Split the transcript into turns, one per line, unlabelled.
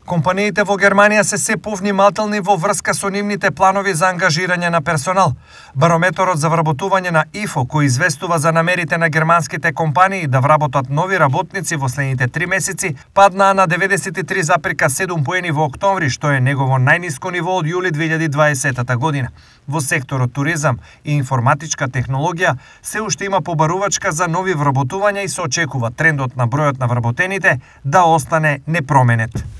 Компаниите во Германија се повнимателни во врска со нивните планови за ангажирање на персонал. Барометорот за вработување на ИФО, кој известува за намерите на германските компании да вработат нови работници во следните 3 месеци, падна на 93,7 поени во октомври, што е негово најниско ниво од јули 2020 година. Во секторот туризам и информатичка технологија се уште има побарувачка за нови вработувања и се очекува трендот на бројот на вработените да остане непроменет.